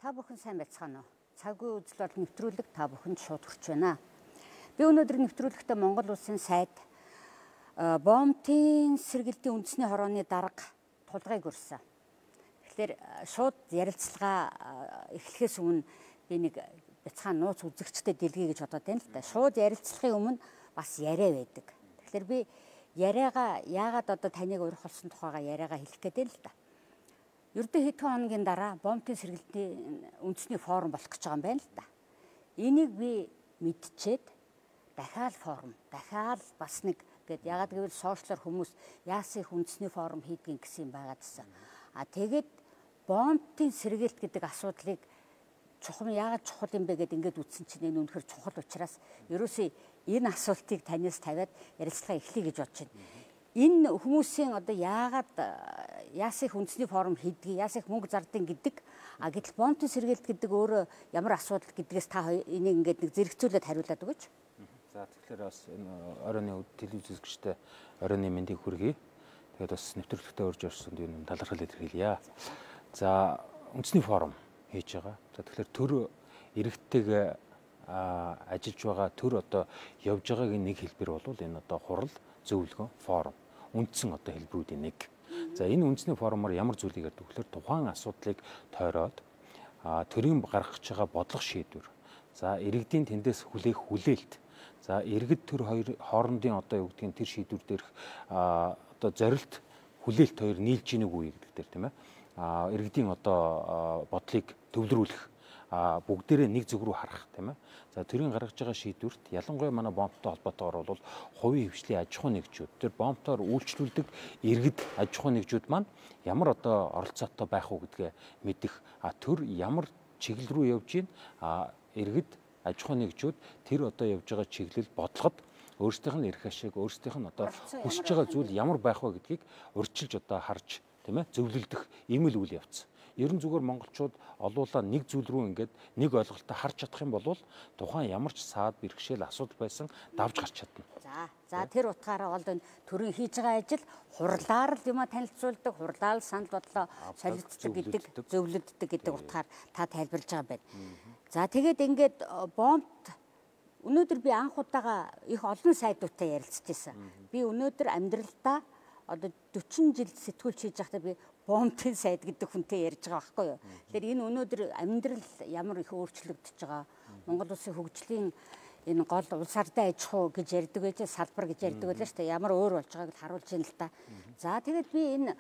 Та бүхэн сайн байцгаана уу? Цагийн үзэл бол нэвтрүүлэг та бүхэнд шууд хүрч байна. Би өнөөдөр нэвтрүүлэгтээ Монгол Улсын сайд бомбын сэргэлтийн үндэсний хорооны дарга тулгайг өрсөн. Тэгэхээр шууд ярилцлага эхлэхээс өмнө би нэг бяцхан нууц үзэгчтэй дэлгэе гэж бодоод байна л да. Шууд ярилцлагын өмнө бас яриа байдаг. Тэгэхээр би яриагаа яагаад одоо таныг урих болсон тухайга яриагаа хэлэх гээд байна л да. Ердөө хэдхэн хоногийн дараа бомбын сэргэлтийн үндэсний форум болох гэж байгаа юм байна л да. Энийг би мэдчихэд дахиад форум, дахиад бас нэг гээд ягаад гэвэл сошиалор хүмүүс яасан их үндэсний форум хийдгийг гэсэн юм байгаадсан. Тэгээд бомбын сэргэлт гэдэг асуудлыг чухам яагаад чухал юм бэ гэдээ ингээд үтсэн чинь энэ үнэхээр чухал учраас ерөөсөө энэ асуултыг танаас тавиад ярилцлага эхлэе гэж бодож байна. Энэ хүмүүсийн одоо яагаад яасан их үндэсний форум хийдгийг, яасан их мөнгө зардыг гэдэг гэтэл бомбын сэргэлт гэдэг өөрөө ямар асуудал гэдгээс та энийг ингээд нэг зэрэгцүүлээд хариулаад өгөөч. За тэгэхээр бас энэ оройны телевиз үзэгчтэй оройны мэндийг хүргэе. Тэгээд бас нэвтрүүлэгтээ урьж орсонд юм талархал илэрхийлье. За үндэсний форум хийж байгаа. За тэгэхээр төр иргэдтэйгээ ажиллаж байгаа төр одоо явж байгаагийн нэг хэлбэр бол энэ одоо хурал зөвлөгөө форум үндсэн одоо хэлбэрүүдийн нэг. За энэ үндэсний форумаар ямар зүйлийг ярьдаг вэхээр тухайн асуудлыг тойроод төрийн гаргаж байгаа бодлого шийдвэр. За иргэдийн тэндээс хүлээх хүлээлт. За иргэд төр хоёр хоорондын одоо юу гэдгийг тэр шийдвэр дээрх одоо зорилт хүлээлт хоёр нийлж ийнэг үе гэдэг дээр тийм ээ. Иргэдийн одоо бодлыг төвлөрүүлэх бүгдээрээ нэг зүг рүү харах тийм ээ. За төрийн гаргаж байгаа шийдвэрт ялангуяа манай бомбтой холбоотойгоор бол хувийн хвшлийн аж ахуй нэгжүүд тэр бомбтоор үйлчлүүлдэг иргэд аж ахуй нэгжүүд маань ямар одоо оролцоотой байх уу гэдгээ мэдэх төр ямар чиглэл рүү явж гин иргэд аж ахуй нэгжүүд тэр одоо явж байгаа чиглэл бодлогод өөрсдийнх нь эрх ашиг өөрсдийнх нь одоо хүсэж байгаа зүйл ямар байх вэ гэдгийг урьдчилж одоо харж тийм ээ зөвлөлдөх ийм л үйл явц. Ерөн зүгээр монголчууд олуулаа нэг зүйл рүү ингээд нэг ойлголтоо харж чадах юм бол тухайн ямар ч саад бэрхшээл асуудал байсан давж гарч чадна. За тэр утгаараа бол энэ төрийн хийж байгаа ажил хурлаар л юм танилцуулдаг, хурлаар л санал бодлоо солилцдог гэдэг, зөвлөддөг гэдэг утгаар та тайлбарлаж байгаа байна. За тэгээд ингээд бомбт өнөөдөр би анх удаага их олон сайдуудтай ярилцж байсан. Би өнөөдөр амьдралдаа одоо 40 жил сэтгүүлч хийж байхдаа би бомбын сайд гэдэг хүнтэй ярьж байгаа байхгүй юу. Тэгэхээр энэ өнөөдөр амьдрал ямар их өөрчлөгдөж байгаа. Монгол улсын хөгжлийн энэ гол улс ардын аж ахуй гэж ярьдаг байж салбар гэж ярьдаг байлаа шүү дээ. Ямар өөр болж байгааг харуулж байна л та. За тэгээд би энэ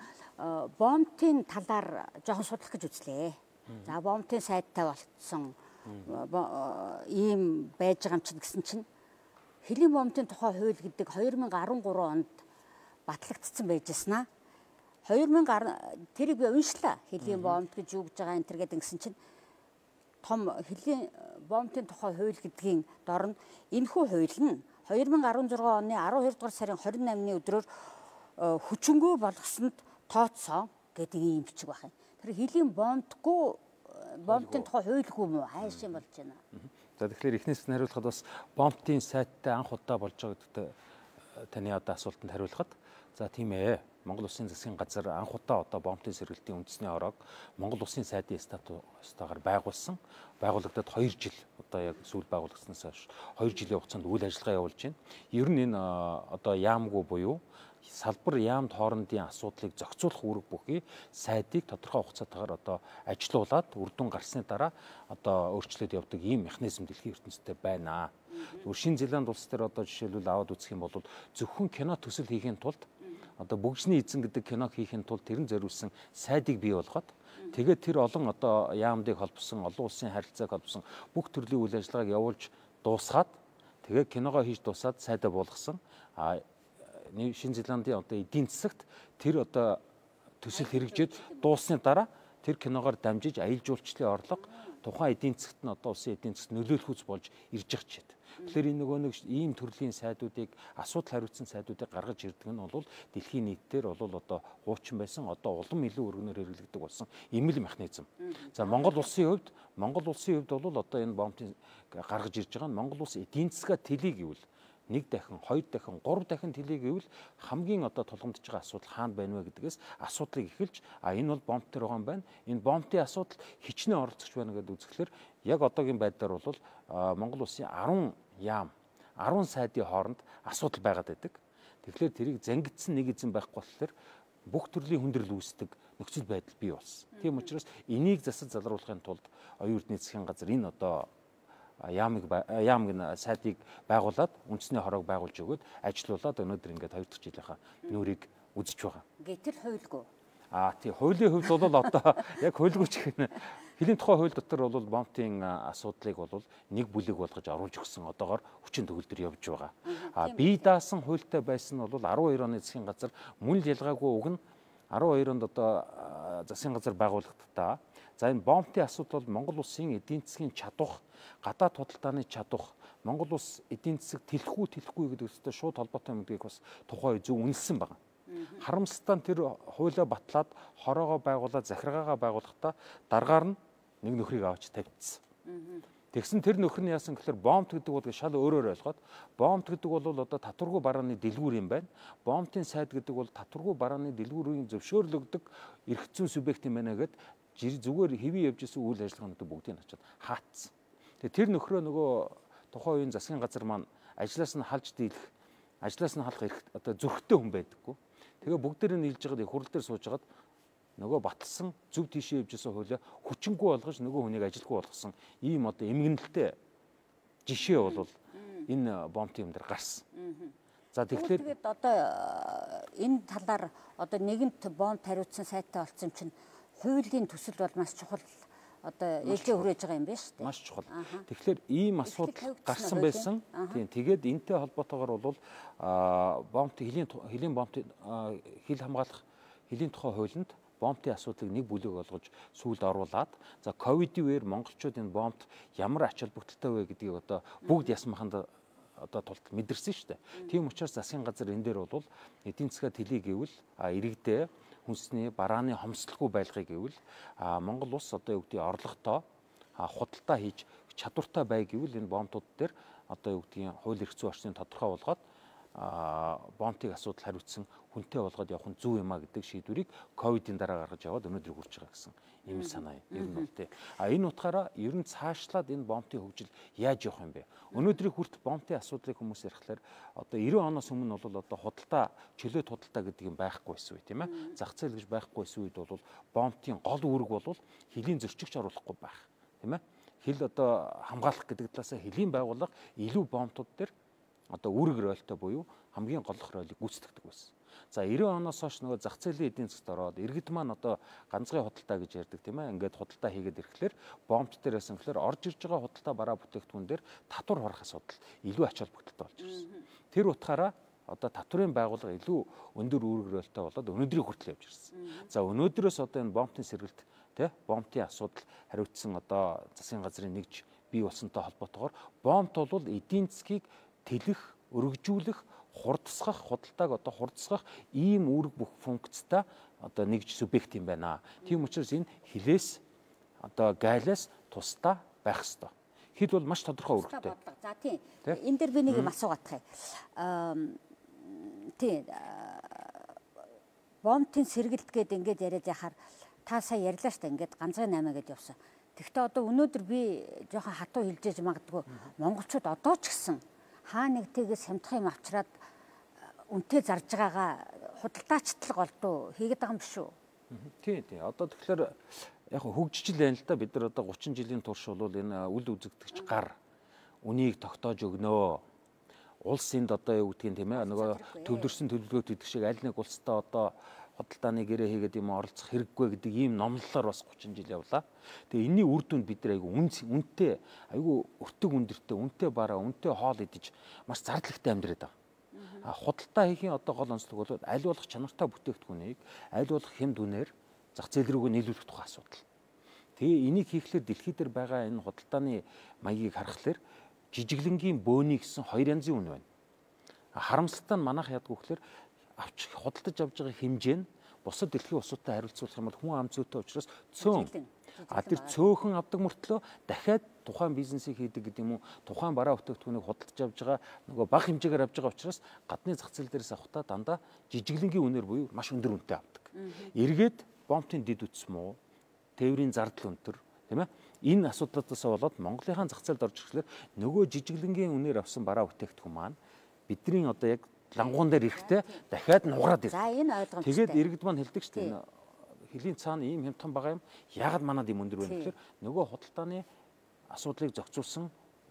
бомбын талаар жоохон судлах гэж үзлээ. За бомбын сайдтай болцсон ийм байж байгаа юм чинь гэсэн чинь хэлийн бомбын тухай хууль гэдэг 2013 онд батлагдсан байж яснаа. 2010 тэрийг би уншлаа. Хэлийн бомб гэж юу гэж байгаа энэ төр гэдэг гисэн чинь том хэлийн бомбын тухай хууль гэдгийн дор нь энэхүү хууль нь 2016 оны 12 дугаар сарын 28-ны өдрөөр хүчингүй болгосонд тооцсон гэдэг ийм бичиг байна. Тэр хэлийн бомбгүй бомбын тухай хуульгүй мүү хайш юм болж байна. За тэгэхээр эхнээс нь хариулахад бас бомбын сайттай анх удаа болж байгаа гэдэгт таны одоо асуултанд хариулахад за тийм ээ. Монгол Улсын засгийн газар анх удаа одоо бомбын сэргэлтийн үндэсний ороог Монгол Улсын сайдын статустаар байгуулсан. Байгуулагдаад 2 жил одоо яг сүүл байгуулагдсанаас хойш 2 жилийн хугацаанд үйл ажиллагаа явуулж байна. Ер нь энэ одоо яамгүй буюу салбар яамд хоорондын асуудлыг зохицуулах үүрэг бүхий сайдыг тодорхой хугацаатаар одоо ажилуулад үр дүн гарсны дараа одоо өөрчлөлт явдаг ийм механизм дэлхийн ертөнцид байна. Шинэ Зеланд улс дээр одоо жишээлбэл аваад үзэх юм бол зөвхөн кино төсөл хийхин тулд одоо бүгжний эзэн гэдэг киног хийхин тулд тэрэн зориулсан сайдыг бий болгоод тэгээд тэр олон одоо яамдыг холбосон олон улсын харилцааг холбосон бүх төрлийн үйл ажиллагааг явуулж дуусгаад тэгээд киногоо хийж дуусаад сайдаа буулгасан Шинэ Зеландын одоо эдийн засагт тэр одоо төсөл хэрэгжээд дуусны дараа тэр киногоор дамжиж аялал жуулчлалын орлого тухайн эдийн засагт нь одоо улсын эдийн засагт нөлөөлөх үс болж ирж байгаа ч гэдэг. Тэгэхээр энэ нөгөө нэг ийм төрлийн сайдуудыг асуудал хариуцсан сайдуудыг гаргаж ирдэг нь бол дэлхийн нийтээр бол одоо хуучин байсан одоо улам илүү өргөнөөр хэрэглэгдэх болсон ийм л механизм. За Монгол улсын хувьд бол одоо энэ бомбын гаргаж ирж байгаа нь Монгол улс эдийн засгаа тэлий гэвэл 1 дахин, 2 дахин, 3 дахин тэлээ гэвэл хамгийн одоо тулгамдж байгаа асуудал хаана байна вэ гэдгээс асуудлыг эхэлж энэ бол бомб төр байгаа юм байна. Энэ бомбын асуудал хичнээн оролцож байна гэдэг үзэхлээр яг одоогийн байдлаар бол Монгол улсын 10 яам 10 сайдын хооронд асуудал байгаад байдаг. Тэгэхээр тэрийг зангидсан нэг эзэн байхгүй болохоор бүх төрлийн хүндрэл үүсдэг нөхцөл байдал бий болсон. Тийм учраас энийг засаж залруулахын тулд оюун эрдэнэ засгийн газар энэ одоо яамыг сайдыг байгуулад үндэсний хороог байгуулж өгөөд ажилуулад өнөөдөр ингээд 2 дахь жилийнхаа нүрийг үзэж байгаа. Гэтэл хуйлгүй. Тийм хуулийн хувьд бол одоо яг хуйлгүй ч гэх хэлийн тухай хууль дотор бол бомбын асуудлыг бол нэг бүлэг болгож оруулж өгсөн одоогоор хүчин төгөлдөр явж байгаа. Бие даасан хуультай байсан нь бол 12 оны засгийн газар мөн л ялгаагүй уг нь 12 онд одоо засгийн газар байгуулагдтаа. За энэ бомбын асуудал бол Монгол улсын эдийн засгийн чадвах, гадаад худалдааны чадвах, Монгол улс эдийн засаг тэлэхгүй гэдэгтэй шууд холбоотой юм гэдгийг бас тухайн үе зөв үнэлсэн байна. Харамсалтай нь тэр хуулиа батлаад хороогоо байгуулаад захиргаагаа байгуулахдаа дараагаар нь нэг нөхрийг авч тавьчихсан. Тэгсэн тэр нөхөр нь яасан гэхээр бомб гэдэг бол шал өөрөөр ойлгоод бомб гэдэг бол одоо татваргүй барааны дэлгүүр юм байна. Бомбын сайд гэдэг бол татваргүй барааны дэлгүүрийн зөвшөөрлөгдөг эрх зүйн субъект юм байна гэд зүгээр хэвээ явж исэн үйл ажиллагаануудыг бүгдийг очиад хаацсан. Тэгээ тэр нөхрөө нөгөө тухайн үеийн засгийн газар маань ажлаас нь халж дийлэх, ажлаас нь халах эрх одоо зөрхтэй хүн байдаггүй. Тэгээ бүгдээрээ нийлж байгаад хурал дээр сууж байгаад нөгөө батлсан зөв тийшээ явж исэн хуулиа хүчингүй болгож нөгөө хүнийг ажилгүй болгосон ийм одоо эмгэнэлтэй жишээ бол энэ бомбын юм дээр гарсан. За тэгэхээр одоо энэ талаар одоо нэгэнт бомб тариутсан сайтай болсон чинь хуулийн төсөл бол маш чухал одоо ээлжээ хүрээж байгаа юм байна шүү дээ. Маш чухал. Тэгэхээр ийм асуудал гарсан байсан. Тийм тэгээд энэтэй холбоотойгоор бол хэлийн бомбын хил хамгаалах хэлийн тухай хуулинд бомбын асуудлыг нэг бүлэг болгож сүүлд оруулаад за ковидын үеэр монголчууд энэ бомбд ямар ач холбогдолтой вэ гэдгийг одоо бүгд ясмаханд одоо тулд мэдэрсэн шүү дээ. Тийм учраас засгийн газар энэ дээр бол эдийн засгаа тэлий гэвэл иргэдээ хүнсний барааны хомсдолгүй байлгыг гэвэл Монгол улс одоо юу гэдгийг орлоготой худалдаа хийж чадвартай бай гэвэл энэ бомбууд дээр одоо юу гэдгийг хууль эрх зүйн орчныг тодорхой болгоод бомбын асуудал хариуцсан хүнтэй болгоод явах нь зөв юм а гэдэг шийдвэрийг ковидын дараа гаргаж яваад өнөөдөр хүрч байгаа гэсэн ийм санаа ер нь бол тий. Энэ утгаараа ер нь цаашлаад энэ бомбын хөгжил яаж явах юм бэ? Өнөөдрийн хүрт бомбын асуудлыг хүмүүс ярихлаар одоо 90 оноос өмнө бол одоо худалдаа чөлөөт худалдаа гэдэг юм байхгүй байсан үе тийм ээ. Зах зээл гэж байхгүй байсан үед бол бомбын гол үүрэг бол хэлийн зөрчигч оруулахгүй байх тийм ээ. Хил одоо хамгаалах гэдэг талаасаа хэлийн байгууллага илүү бомбууд дээр одоо үүрэг ролтой буюу хамгийн голлох ролыг гүйцэтгэдэг байсан. За 90 оноос хойш нөгөө зах зээлийн эдийн засгт ороод иргэд маань одоо ганцгай худалдаа гэж ярьдаг тийм ээ. Ингээд худалдаа хийгээд ирэхлээр бомб дээр байсан гэхээр орж ирж байгаа худалдаа бараа бүтээгдэхүүн дээр татвар хорох асуудал илүү ач холбогдолтой болж ирсэн. Тэр утгаараа одоо татврын байгууллага илүү өндөр үүрэг ролтой болоод өнөөдрийн хүртэл явж ирсэн. За өнөөдрөөс одоо энэ бомбын сэргэлт тий бомбын асуудал хариуцсан одоо засгийн газрын нэгж бий болсонтой холбоотойгоор бомб бол эдийн засгийг тэлэх, өргөжүүлэх, хурдсгах, худалдааг одоо хурдсгах ийм үүрэг бүх функцтай одоо нэгж субъект юм байна. Тийм учраас энэ хилээс одоо гайлаас тусдаа байх ёстой. Хил бол маш тодорхой үүрэгтэй. За тийм. Энэ дээр би нэг юм асуугаадах юм. Тийм. Бомбын сэргэлт гээд ингээд яриад яхаар та сая ярьлаа шүү дээ. Ингээд ганцхан 8 гэдээ явсан. Тэгэхдээ одоо өнөөдөр би жоохон хатуу хэлжээж магадгүй монголчууд одоо ч гэсэн хаа нэгтээс хямдхан юм авчраад үнтэй зарж байгаагаа худалдаачтлаг голдуу хийгээд байгаа юм биш үү? Тийм. Одоо тэгэхээр яг хөгжиж л байна л да. Бид нар одоо 30 жилийн турш бол энэ үл үзэгдэгч гар үнийг тогтоож өгнөө. Улс энд одоо юу гэдгийг тийм ээ нөгөө төвлөрсөн төлөвлөгөөт гэдэг шиг аль нэг улстай одоо худалдааны гэрээ хийгээд юм оролцох хэрэггүй гэдэг ийм номлолоор бас 30 жил явлаа. Тэгээ энэний үр дүнд бид нар айгүй үнэтэй, айгүй өртөг өндөртэй, үнэтэй бараа, үнэтэй хоол идэж маш зардлагтай амьдраад байгаа. Худалдаа хийхийн одоо гол онцлог бол аль болох чанартай бүтээгдэхүүнийг аль болох хямд үнээр зах зээл рүүгээ нийлүүлэх тухай асуудал. Тэгээ энийг хийхлээр дэлхий дээр байгаа энэ худалдааны маягийг харахаар жижиглэнгийн бөөний гэсэн 2 янзын үн байна. Харамсалтай нь манайх ядгүй гэхээр авч худалдаж авж байгаа хэмжээ нь бусад дэлхийн улсуудтай харилцуулах юм бол хүн ам зүйтэй учраас цөөн. Тэр цөөхөн авдаг мөртлөө дахиад тухайн бизнесийг хийдэг гэдэг юм уу, тухайн бараа бүтээгдэхүүнийг худалдаж авж байгаа нөгөө бага хэмжээгээр авж байгаа учраас гадны зах зээл дээрээс авахдаа дандаа жижиглэнгийн үнээр буюу маш өндөр үнэтэй авдаг. Эргээд бомтын дид үтс муу, тээврийн зардал өндөр, тийм ээ. Энэ асуудлаас болоод Монголынхаа зах зээлд орж ирэхлээр нөгөө жижиглэнгийн үнээр авсан бараа бүтээгдэхүүн маань бидний одоо яг лангуун дээр ирэхдээ дахиад нугараад ирдэг. За энэ ойлгомжтой. Тэгээд иргэд маань хэлдэг шүү дээ. Хөлийн цаана ийм хямдхан байгаа юм. Яагаад манад ийм өндөр байна гэхээр нөгөө худалдааны асуудлыг зохицуулсан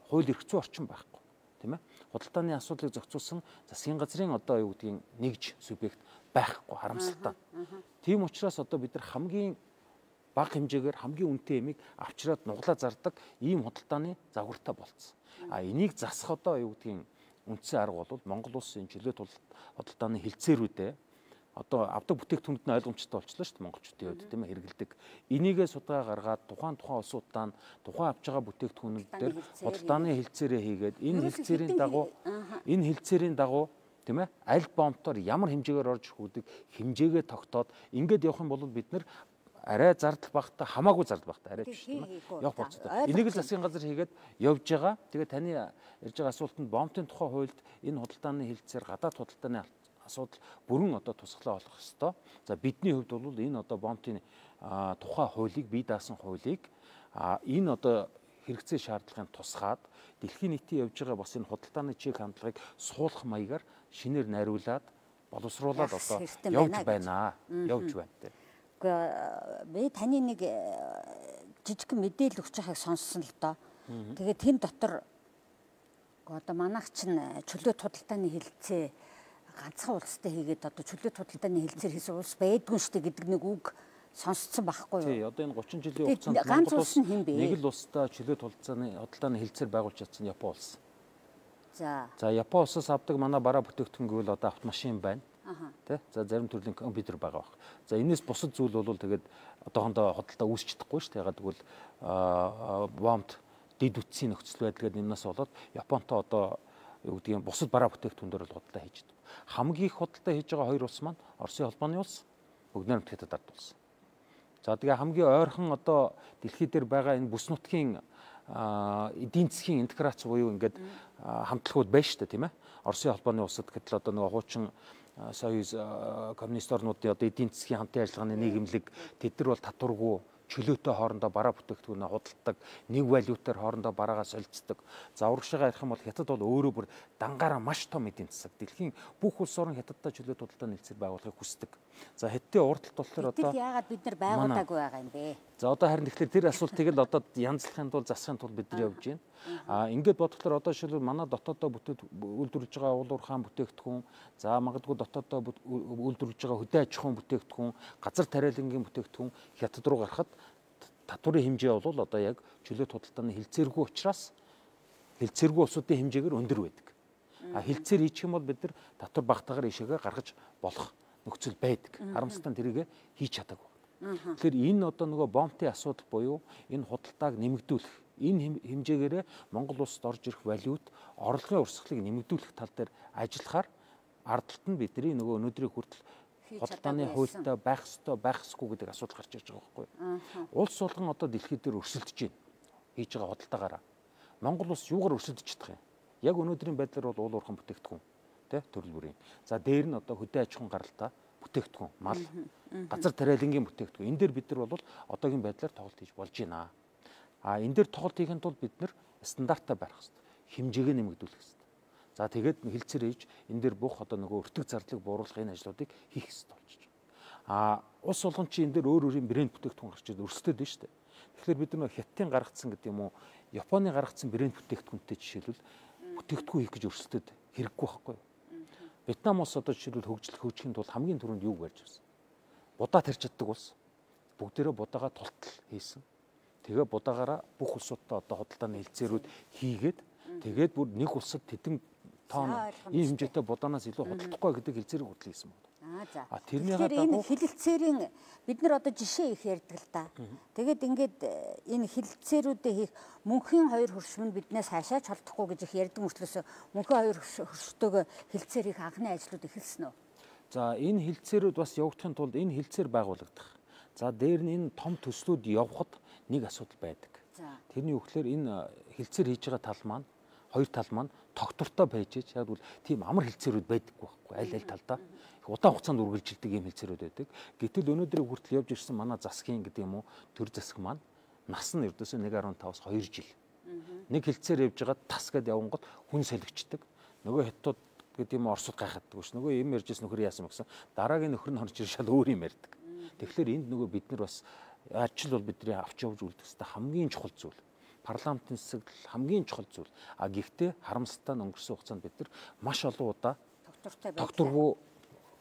хууль эрх зүйн орчин байхгүй, тийм ээ. Худалдааны асуудлыг зохицуулсан засгийн газрын одоо юу гэдгийг нэгж субъект байхгүй, харамсалтай. Тийм учраас одоо бид нар хамгийн бага хэмжээгээр хамгийн үнэтэй ямиг авчираад нуглаа зардаг ийм худалдааны загвартай болцсон. Энийг засах одоо юу гэдгийг үндсэн арга бол Монгол улсын чөлөөт худалдааны хилцээрүүдээ одоо авдаг бүтээгдэхүүнд нь ойлгомжтой болчихлоо шүү дээ монголчуудын хувьд, тийм ээ, хэрэгэлдэг. Энийгээ судалгаа гаргаад тухайн улсуудаа тухайн авч байгаа бүтээгдэхүүнүүд дээр худалдааны хилцээрээ хийгээд энэ хилцээрийн дагуу тийм ээ аль бомтоор ямар хэмжээгээр орж ирэх үүдийг хэмжээгээ тогтоод ингээд явах юм бол бид нар арай зардал багтаа хамаагүй зардал багтаа арай биш тийм ээ явах болцоо. Энийг л засгийн газар хийгээд явж байгаа. Тэгээд таны ярьж байгаа асуултанд бомтын тухай хуульд энэ худалдааны хилцээр гадаад худалдааны асуудал бүрэн одоо тусгалаа болох ёстой. За бидний хувьд бол энэ одоо бомтын тухай хуулийг бие даасан хуулийг энэ одоо хэрэгцээ шаардлагын тусгаад дэлхийн нийтийн явж байгаа бас энэ худалдааны чиг хандлагыг суулгах маягаар шинээр найруулад боловсруулад одоо явж байна. Явж байна те. Би таны нэг жижиг мэдээлэл өгч байгааг сонссон л доо. Тэгээд тэн дотор одоо манайх чинь чөлөөт худалдааны хилцээ ганцхан улстай хийгээд одоо чөлөөт худалдааны хилцээр хийсэн улс байдгүй шүү дээ гэдэг нэг үг сонсцсон байхгүй юу? Тий, одоо энэ 30 жилийн хугацаанд Монгол улс нэг л улстай чөлөөт худалдааны хилцээр байгуулж чадсан Япон улс. За Япон улсаас авдаг манай бараа бүтээгдэхүүн гэвэл одоо автомашин байна. Тэ? За зарим төрлийн компьютер байгаа баг. За энэс бусад зүйл бол тэгээд одоохондоо худалдаа үүсч чадахгүй шүү дээ. Ягаад гэвэл бомт дид үтсийн нөхцөл байдал гэдэг юмнаас болоод Японтой одоо юу гэдгийг бусад бараа бүтээгдэхүүнээр л худалдаа хийж байгаа. Хамгийн их худалдаа хийж байгаа хоёр улс маань Оросын холбооны улс, Бүгд найрамд Хятад ард улс. За тэгээ хамгийн ойрхон одоо дэлхий дээр байгаа энэ бүс нутгийн эдийн засгийн интеграц буюу ингээд хамтлагууд байна шүү дээ, тийм ээ. Оросын холбооны улсад гэтэл одоо нөгөө хуучин союз коммунист орнуудын одоо эдийн засгийн хамтын ажиллагааны нийгэмлэг тэд нар бол татваргүй чөлөөтэй хоорондоо бараа бүтээгдэхүүнээ худалдаг, нэг валютаар хоорондоо бараагаа солилцдог. За урагшаага ярих юм бол Хятад бол өөрөө бүр дангаараа маш том эдийн засаг. Дэлхийн бүх улс орн Хятадтай чөлөөт худалдааны хилцээр байгуулахыг хүсдэг. За Хятадын уралдалт болохоор одоо яагаад бид нар байгуулаагүй байгаа юм бэ? За одоо харин тэгэхээр тэр асуултыг л одоо янзлахын тулд засахын тулд бид нар явж байна. Ингээд бодглохоор одоо жишээлбэл манай дотоодоо үйлдвэрлэж байгаа уул уурхайн бүтээгдэхүүн, за магадгүй дотоодоо үйлдвэрлэж байгаа хөдөө аж ахуйн бүтээгдэхүүн, газар тариалангийн бүтээгдэхүүн Хятад руу гарахад татварын хэмжээ бол одоо яг чөлөөт худалдааны хилцээргүй учраас хилцээргүй улсуудын хэмжээгээр өндөр байдаг. Хилцээр хийчих юм бол бид нар татвар багтаагаар ишээгээ гаргаж болох нөхцөл байдаг. Харамсалтай нь тэрийг хийж чадаагүй. Тэгэхээр энэ одоо нөгөө бомтын асуудал буюу энэ худалдааг нэмэгдүүлэх, энэ хэмжээгээрээ Монгол улсад орж ирэх валют орлогын урсгалыг нэмэгдүүлэх тал дээр ажиллахаар ардталт нь бидний нөгөө өнөөдрийн хүртэл худалдааны хуультай байх ёстой байх ёсгүй гэдэг асуудал гарч ирж байгаа байхгүй юу? Улс болгон одоо дэлхийд дээр өрсөлдөж байна. Хийж байгаа худалдаагаараа. Монгол улс юугаар өрсөлдөж чадах юм? Яг өнөөдрийн байдлаар бол уул уурхайн бүтээгдэхүүн, тэ төрөл бүрийн. За дээр нь одоо хөдөө аж ахуйн гаралтай бүтээгдэхүүн, мал, газар тариалангийн бүтээгдэхүүн. Энэ дээр бид нар бол одоогийн байдлаар тоглолт хийж болж байна. Энэ дээр тоглолт хийхэд бол бид нар стандартаа барих хэрэгтэй. Хэмжээгээ нэмэгдүүлэх хэрэгтэй. За тэгээд хилцээр хийж энэ дээр бүх одоо нөгөө өртөг зардлыг бууруулах энэ ажлуудыг хийх хэрэгтэй болчих. Улс болгон чи энэ дээр өөр өөрийн брэнд бүтээгдэхүүн гарч ирээд өрсөлдөд байна шүү дээ. Тэгэхээр бид нар Хятадын гаргацсан гэдэг юм уу, Японы гаргацсан брэнд бүтээгдэхүүнтэй жишээлбэл бүтээгдэхүүн хийх гэж өрсөлдөд хэрэггүй байхгүй юу? Вьетнам улс одоо жишээлбэл хөгжихийн тулд хамгийн түрүүнд юу барьж ирсэн? Будаа тарьж чаддаг улс. Бүгдээрээ будаагаа тултал хийсэн. Тэгээ будаагаараа бүх улсуудтай одоо худалдааны хилцээрүүд хийгээд тэгээд бүр нэг улсад тэдэн тоон ийм хэмжээтэй будаанаас илүү худалдахгүй гэдэг хилцээрийг хөтлөж хийсэн байна. Тэгэхээр энэ хилцээрийн бид нар одоо жишээ их ярьдаг л да. Тэгээд ингээд энэ хилцээрүүдээ хийх мөнхийн хоёр хөршмөнд биднээс хаашаач холдохгүй гэж их ярьдаг мөртлөөс мөнхийн хоёр хөрштөөгөө хилцээр хийх анхны ажлууд эхэлсэн үү? За энэ хилцээрүүд бас явагдахын тулд энэ хилцээр байгуулагдах. За дээр нь энэ том төслүүд явхад нэг асуудал байдаг. Тэрний үгээр энэ хилцээр хийж байгаа тал маань хоёр тал маань тогтвортой байж яг бол тийм амар хилцээрүүд байдаггүй байхгүй аль талдаа их удаан хугацаанд үргэлжилдэг юм хилцээрүүд байдаг. Гэтэл өнөөдрийг хүртэл явж ирсэн манай засгийн гэдэг юм уу төр засаг маань нас нь ердөөсөө 1.5-аас 2 жил. Нэг хилцээр явж байгаа тас гэд явангууд хүн солигчдаг. Нөгөө хятад гэдэг юм Оросд гайхаддаг ш. Нөгөө юм ярьжсэн нөхөр яасан гэсэн дараагийн нөхөр нь орж ирж шал өөр юм ярьдаг. Тэгэхээр энд нөгөө бид нар бас ажил бол бидний авч явж үлдэх хэвээр хамгийн чухал зүйл. Парламентын засаг хамгийн чухал зүйл. А гэхдээ харамсалтай нь өнгөрсөн хугацаанд бид нар маш олон удаа тогтворгүй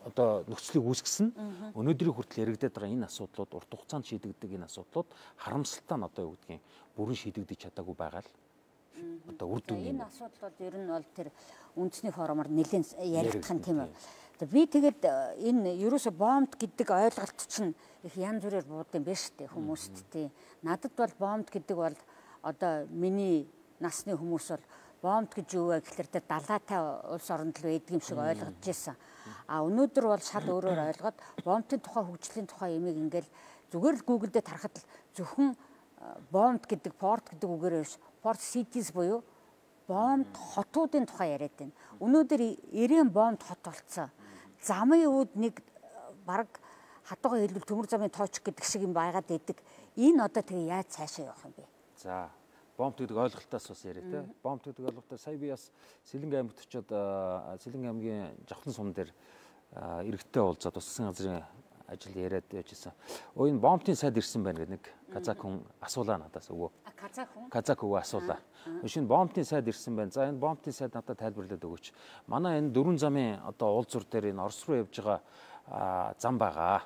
одоо нөхцөлийг үүсгэсэн. Өнөөдрийг хүртэл яригдаад байгаа энэ асуудлууд урт хугацаанд шийдэгддэг энэ асуудлууд харамсалтай нь одоо юу гэдгийг бүрэн шийдэгдэж чадаагүй байгаа л одоо үр дүн юм. Энэ асуудлууд ер нь бол тэр үндэсний форумаар нэлээд яригдах нь тийм үү. Би тэгээд энэ ерөөсө бомб гэдэг ойлголт чинь их янз бүрээр буудсан байж тээ хүмүүст тий. Надад бол бомб гэдэг бол одоо миний насны хүмүүс бол бомб гэж юу вэ гэхэлэр тэр далайтай улс оронд л байдаг юм шиг ойлгож байсан. А өнөөдөр бол шал өөрөөр ойлгоод бомбын тухай хөгжлийн тухай ямиг ингээл зүгээр л Google дээр тарахад л зөвхөн бомб гэдэг порт гэдэг үгээр биш порт cities буюу бомб хотуудын тухай яриад байна. Өнөөдөр 90 бомб хот болцсон. Замын үүд нэг баг хатуугаа хэлбэл төмөр замын тооч гэдэг шиг юм байгаад идэг. Энэ одоо тэгээ яаж цаашаа явах юм бэ? За бомб гэдэг ойлголтоос бас яриа те. Бомб гэдэг ойлголтоо сая би бас Сэлэнгэ аймагт очиод Сэлэнгэ аймгийн Жавхан сум дээр иргэдтэй уулзаад засгийн газрын ажил яриад байжсэн. Энэ бомбын сайд ирсэн байна гэдэг нэг казак хүн асуулаа надаас өгөө. Казак өгөө асуулаа. Шинэ бомбын сайд ирсэн байна. За энэ бомбын сайд надад тайлбарлаад өгөөч. Манай энэ 4 замын одоо уулзуур дээр энэ Орос руу явж байгаа зам байгаа.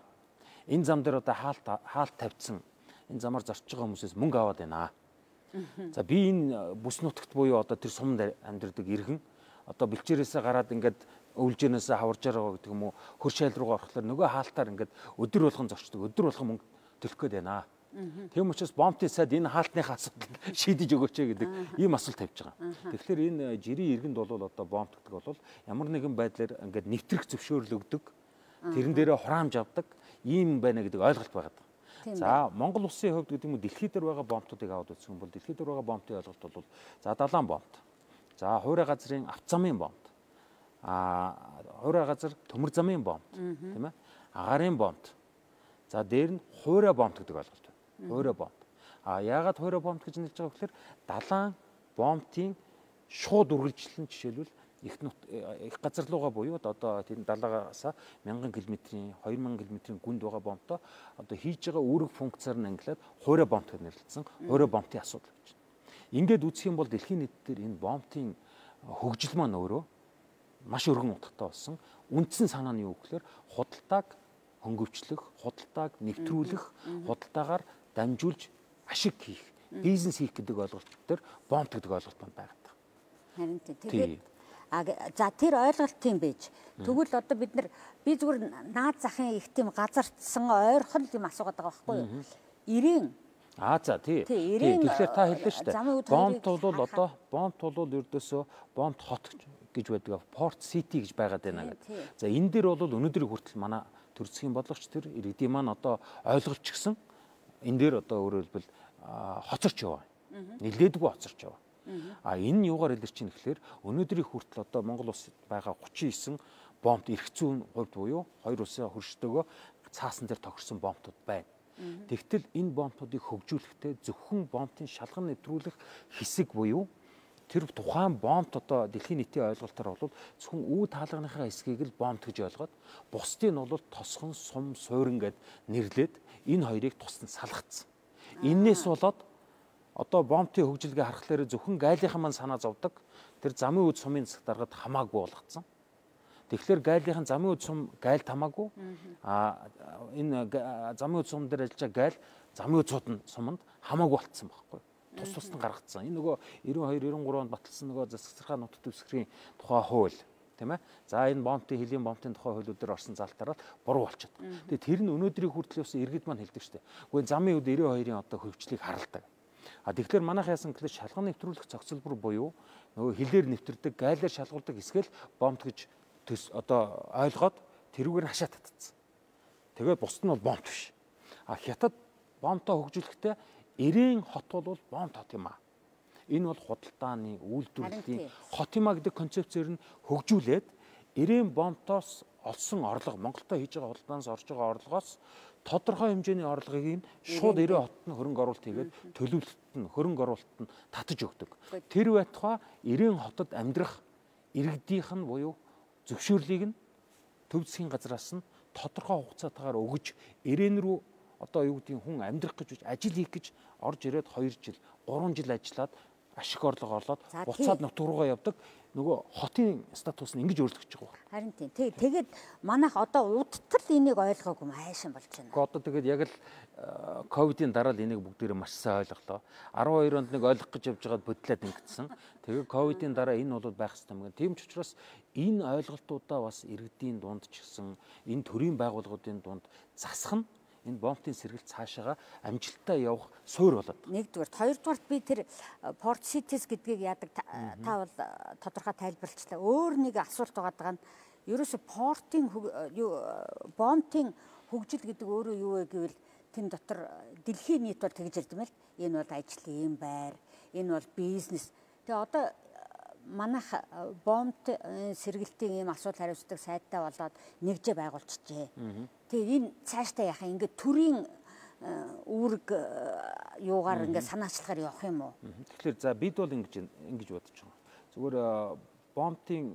Энэ зам дээр одоо хаалт тавьсан. Энэ замаар зорчж байгаа хүмүүсээс мөнгө аваад байна. За би энэ бүс нутагт буюу одоо тэр сумд амьдардаг иргэн одоо бэлчээрээсээ гараад ингээд өвлжэнээсээ хаварж байгаа гэдэг юм уу хөр шайл руугаа орохлоор нөгөө хаалтаар ингээд өдөр болгон зорчдог өдөр болгон мөнгө төлөх гээд байна. Тийм учраас бомбын сайд энэ хаалтныхаа асуудал шийдэж өгөөч гэдэг ийм асуулт тавьж байгаа. Тэгэхээр энэ жирийн иргэнд бол одоо бомб гэдэг бол ямар нэгэн байдлаар ингээд нэвтрэх зөвшөөрлөгдөг тэрэн дээрээ хураамж авдаг ийм байна гэдэг ойлголт байгаа. За Монгол улсын хувьд гэдэг юм уу дэлхийд дээр байгаа бомбуудыг аваад үзэх юм бол дэлхийд дээр байгаа бомбын ойлголт бол за далайн бомб. За хуурай газрын автозамын бомб. Хуурай газар төмөр замын бомб, тийм ээ? Агарын бомб. За дээр нь хуурай бомб гэдэг ойлголт байна. Хуурай бомб. Яагаад хуурай бомб гэж нэрлэж байгаа гэхээр далайн бомбын шууд үргэлжлэн жишээлбэл их газар руугаа буюу одоо тийм далаагаас 1000 км-ийн 2000 км-ийн гүнд байгаа бомбтой одоо хийж байгаа үүрэг функцаар нь ангилаад хуурай бомб гэж нэрлэлсэн хуурай бомбын асуудал гэж. Ингээд үзэх юм бол дэлхийн нийт дээр энэ бомбын хөгжил маань өөрөө маш өргөн утгатай болсон. Үндсэн санаа нь юу гэхээр худалдааг хөнгөвчлөх, худалдааг нэвтрүүлэх, худалдаагаар дамжуулж ашиг хийх, бизнес хийх гэдэг ойлголт төр бомб гэдэг ойлголт байна. Харин тэгээд за тэр ойлголт тийм байж. Тэгвэл одоо би зүгээр наад захын их тийм газардсан ойрхон юм асуугаад байгаа байхгүй юу? 90 за тий. Тэгэхээр та хэллээ шүү дээ. Бомб бол одоо бомб бол ердөөсөө бомб хот гэж байдаг. Порт сити гэж байгаад байна гэдэг. За энэ дээр бол өнөөдрийг хүртэл манай төр засгийн бодлогч тэр иргэдийн маань одоо ойлголцчихсан. Энэ дээр одоо өөрөөр хэлбэл хоцорч яваа. Нилээдгүй хоцорч яваа. Энэ юугаар илэрч чинь гэхээр өнөөдрийг хүртэл одоо Монгол улсад байгаа 39 бомбд эрх зүйн хувьд буюу хоёр улсын хөршдөгөө цаасан дээр тохирсон бомбууд байна. Тэгтэл энэ бомбуудыг хөгжүүлэхдээ зөвхөн бомбын шалган нэвтрүүлэх хэсэг буюу тэр тухайн бомб одоо дэлхийн нийтийн ойлголтоор бол зөвхөн үе таалганыхаа хэсгийг л бомб гэж ойлгоод бусдыг нь бол тосгон сум суурин гэд нэрлээд энэ хоёрыг тусдан салгацсан. Иннээс болоод одоо бомбын хөгжилгээ харахаар зөвхөн гайлынхан маань санаа зовдөг. Тэр замын үд сумын засаг даргад хамаагүй болгоцсон. Тэгэхээр гайлынхан замын үд сум гайлд хамаагүй. Энэ замын үд сум дээр ажиллаж байгаа гайл замын үд суманд хамаагүй болцсон байхгүй. Тус нь гаргацсан. Энэ нөгөө 92 93 онд баталсан нөгөө засагсархаа нутаг дэвсгэрийн тухай хууль, тийм ээ. За энэ бомбын хөлийн бомбын тухай хуулиудаар орсон залтаараа буруу болчиход. Тэгээ тэр нь өнөөдрийн хүртэл бас иргэд маань хэлдэг шүү дээ. Гэхдээ замын үд 92-ийн одоо хөгжлийг харалдаг. Тэгэхээр манайх яасан гэвэл шалган нэвтрүүлэх цогцлбор буюу нөгөө хилээр нэвтрдэг, гайлаар шалгуулдаг хэсгээл бомб гэж одоо ойлгоод тэрүүгээр хашаа татцсан. Тэгээд бусд нь бол бомб биш. Хятад бомбтой хөгжүүлэхдээ Ирээн хот бол бомб хот юм аа. Энэ бол худалдааны үйлдвэрлэлийн хот юм аа гэдэг концепцээр нь хөгжүүлээд ирээн бомбтоос олсон орлого, Монголтой хийж байгаа худалдаанаас орж байгаа орлогоос тодорхой хэмжээний орлогыг нь шууд ирээн хотод нь хөрөнгө оруулалт хийгээд төлөвлөлтөд нь хөрөнгө оруулалтад нь татаж өгдөг. Тэр байтугай ирээн хотод амьдрах иргэдийнх нь буюу зөвшөөрлийг нь төв засгийн газраас нь тодорхой хугацаатаагаар өгөж ирээн рүү одоо юу гэдгийг хүн амьдрах гэж ажил хийх гэж орж ирээд 2 жил 3 жил ажиллаад ашиг орлого орлоод буцаад нутг руугаа явдаг. Нөгөө хотын статус нь ингэж өөрчлөгдөж байгаа байна. Харин тийм. Тэгээд манайх одоо удтал энийг ойлгоогүй майшин болж байна. Одоо тэгээд яг л ковидын дараа л энийг бүгдээрээ маш сайн ойлголоо. 12 онд нэг ойлгох гэж явж байгаад бодлоод ингэсэн. Тэгээд ковидын дараа энэ бол байх ёстой юм. Тийм ч учраас энэ ойлголтуудаа бас иргэдийн дунд ч гэсэн энэ төрийн байгууллагуудын дунд засах нь энэ бомбын сэргэлт цаашаага амжилттай явах суурь болоод. Нэгдүгээр, хоёрдугаарт би тэр Port Cities гэдгийг яадаг та бол тодорхой тайлбарлалчлаа. Өөр нэг асуулт байгаа нь ерөөсө портын бомбын хөгжил гэдэг өөрөө юу вэ гэвэл тэн дотор дэлхийн нийт бол тэгж ярьд юм л. Энэ бол ажлын юм байр, энэ бол бизнес. Тэгээ одоо манайх бомб сэргэлтийн ийм асуудал хариуцдаг сайттай болоод нэгжээ байгуулчихжээ. Тэгээ энэ цаашдаа яхаа ингээд төрийн үүрэг юугаар ингээд санаачлагаар явах юм уу? Тэгэхээр за бид бол ингэж бодож байгаа. Зүгээр бомбын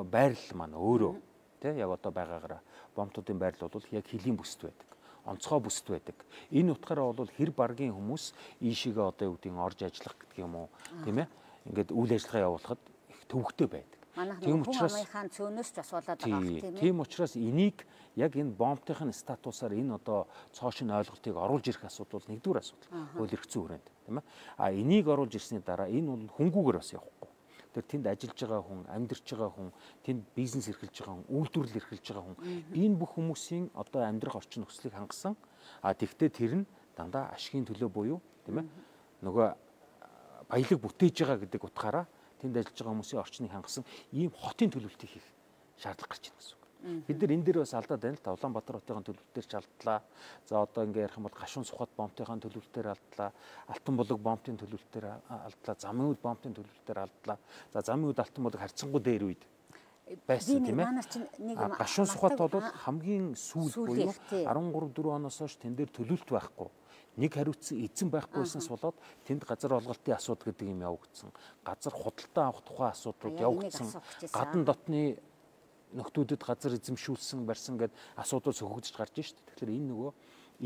байрлал маань өөрөө тий яг одоо байгаагаараа бомбтуудын байрлал бол яг хилийн бүсд байдаг. Онцгой бүсд байдаг. Энэ утгаараа бол хэр баргийн хүмүүс ийшээгээ одоо юу гэдгийг орж ажиллах гэдэг юм уу, тийм ээ? Ингээд үйл ажиллагаа явуулахад их төвөгтэй байдаг. Тийм учраас хаан цөөнөөс ч бас болоод байгаа юм. Тийм учраас энийг яг энэ бомбтын статусаар энэ одоо цоошин ойлголтыг оруулж ирэх асуудал бол нэгдүгээр асуудал. Хууль эрх зүйн хүрээнд, тийм ээ. А энийг оруулж ирсний дараа энэ бол хөнгүүгээр бас явахгүй. Тэр тэнд ажиллаж байгаа хүн, амьдарч байгаа хүн, тэнд бизнес эрхэлж байгаа хүн, үйлдвэрлэл эрхэлж байгаа хүн, энэ бүх хүмүүсийн одоо амьдрах орчин нөхцөлийг хангасан. А тэгвэл тэр нь дандаа ашигын төлөө буюу, тийм ээ. Нөгөө баялаг бүтээж байгаа гэдэг утгаараа тэнд ажиллаж байгаа хүмүүсийн орчныг хангасан ийм хотын төлөвлөлтийг хийх шаардлага гарч ирнэ гэсэн үг. Бид нар энэ дээр бас алдаад байна л та. Улаанбаатар хотын төлөвлөлтөөр ч алдлаа. За одоо ингээ ярих юм бол Гашуун Сухбат бомбын төлөвлөлтөөр алдлаа. Алтан булаг бомбын төлөвлөлтөөр алдлаа. Замын үд бомбын төлөвлөлтөөр алдлаа. За замын үд алтан булаг харьцангуй дээр үед байсан тийм ээ. Гашуун Сухбат бол хамгийн сүүл буюу 13-4 оноос хойш тэн дээр төлөвлөлт байхгүй. Нэг хариуцсан эзэн байхгүйснээс болоод тэнд газар олголтын асуудал гэдэг юм явагдсан. Газар худалдаа авах тухай асуудлууд явагдсан. Гадна дотны нөхдүүдэд газар эзэмшүүлсэн барьсан гэдэг асуудал сөхөгдөж гарч байна шүү дээ. Тэгэхээр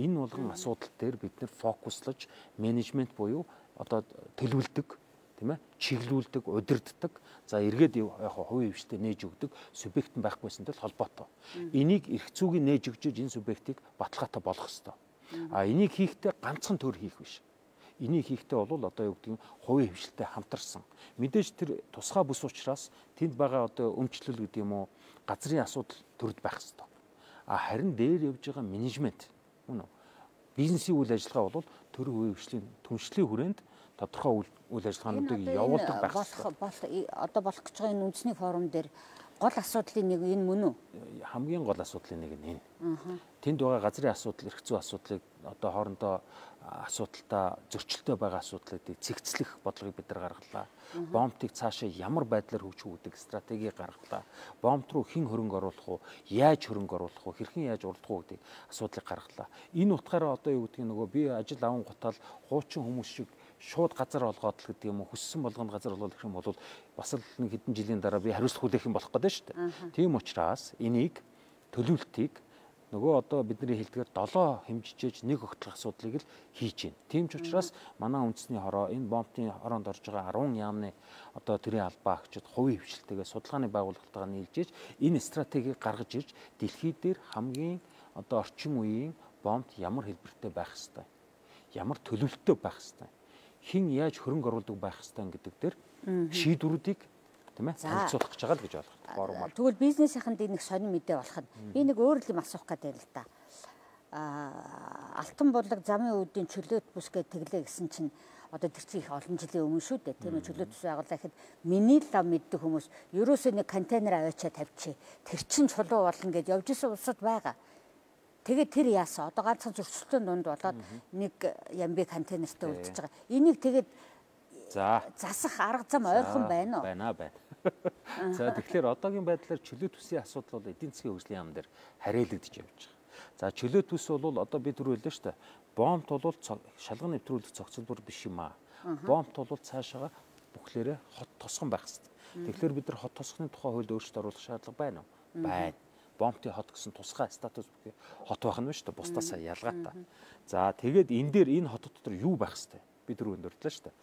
энэ болгон асуудал дээр бид нэр фокуслаж менежмент буюу одоо төлөвлөдөг, тийм ээ, чиглүүлдэг, удирддаг. За эргээд яг хувийн хвштэй нээж өгдөг субъект нь байхгүйсэнтэй холбоотой. Энийг эрх зүйн нээж өгч энэ субъектыг баталгаатай болгох ёстой. А энийг хийхдээ ганцхан төр хийх биш. Энийг хийхдээ бол одоо юу гэдэг нь хувийн хвшилтэй хамтарсан. Мэдээж тэр тусгай бүс учраас тэнд байгаа одоо өмчлөл гэдэг юм уу газрын асуудал төрд байх ёстой. А харин дээр явж байгаа менежмент мөн үү? Бизнесийн үйл ажиллагаа бол төр хувийн хвшлийн түншлэлийн хүрээнд тодорхой үйл ажиллагаануудыг явуулдаг байх ёстой. Одоо болох гэж байгаа энэ үндэсний форум дээр гол асуудлын нэг энэ мөн үү? Хамгийн гол асуудлын нэг нь энэ. Тэнд байгаа газрын асуудал, эрх зүйн асуудлыг одоо хоорондоо асуудалтай зөрчилтэй байгаа асуудлуудыг цэгцлэх бодлогыг бид нар гаргалаа. Бомбтыг цаашаа ямар байдлаар хөгжүүлэх гэдэг стратеги гаргалаа. Бомбт руу хэн хөрөнгө оруулах уу, яаж хөрөнгө оруулах уу, хэрхэн яаж урдах уу гэдэг асуудлыг гаргалаа. Энэ утгаараа одоо юу гэдгийг нөгөө би ажил аван гутал хуучин хүмүүс шиг шууд газар олгоод л гэдэг юм уу хүссэн болгонд газар олгох юм бол бас л нэг хэдэн жилийн дараа би хариуцлах хүлээх юм болох гэдэг шүү дээ. Тийм учраас энийг төлөвлөлтийг нөгөө одоо бидний хэлдгээр 7 хэмжижээж нэг огтлох асуудлыг л хийж байна. Тийм ч учраас манай үндэсний хороо энэ бомбын хороонд орж байгаа 10 яамны одоо төрийн албаа агчид хувийн хвшилтэйгээ судалгааны байгууллагатайгаа нийлжээж энэ стратегийг гаргаж ирж дэлхийд дээр хамгийн одоо орчин үеийн бомбд ямар хэлбэртэй байх ёстой, ямар төлөвлөлттэй байх ёстой, хэн яаж хөрөнгө оруулдаг байх ёстой гэдэг дээр шийдвэрүүдийг тийм ээ танилцуулах гэж байгаа л гэж ойлгох. Тэгвэл бизнесийнхэнд нэг сонир мэдээ болоход би нэг өөр юм асуух гэдэг л да. Алтан булаг замын үүдийн чөлөөт бүс гэдэг тэглээ гэсэн чинь одоо тэр чинь их олон жилийн өмнө шүү дээ. Тийм ээ чөлөөт бүс байгууллаа гэхэд миний лав мэддэг хүмүүс ерөөсөө нэг контейнер аваачаа тавьчих. Тэр чинь чулуу болно гэж явж исэн улсад байгаа. Тэгээд тэр яасан. Одоо ганцхан зөрчилтийн дунд болоод нэг ямби контейнертэй үлдчихэж байгаа. Энийг тэгээд засах арга зам ойрхон байна уу? Байна. За тэгэхээр одоогийн байдлаар чөлөө төсвийн асуудал бол эдийн засгийн хөгжлийн яам дээр хариалагдж явж байгаа. За чөлөө төс бол одоо би түрүү хэллээ шүү дээ. Бомбт бол шалган нэвтрүүлэх цогцлбор биш юм аа. Бомбт бол цаашаага бүхлээрээ хот тосгон байх хэрэгтэй. Тэгэхээр бид нар хот тосгоны тухай хуульд өөрчлөлт оруулах шаардлага байна уу? Байна. Бомбтын хот гэсэн тусгай статус бүхий хот байх нь шүү дээ. Бусдаасаа ялгаатай. За тэгээд энэ дээр энэ хотод дотор юу байх хэрэгтэй? Би түрүү өндөртлөө шүү дээ.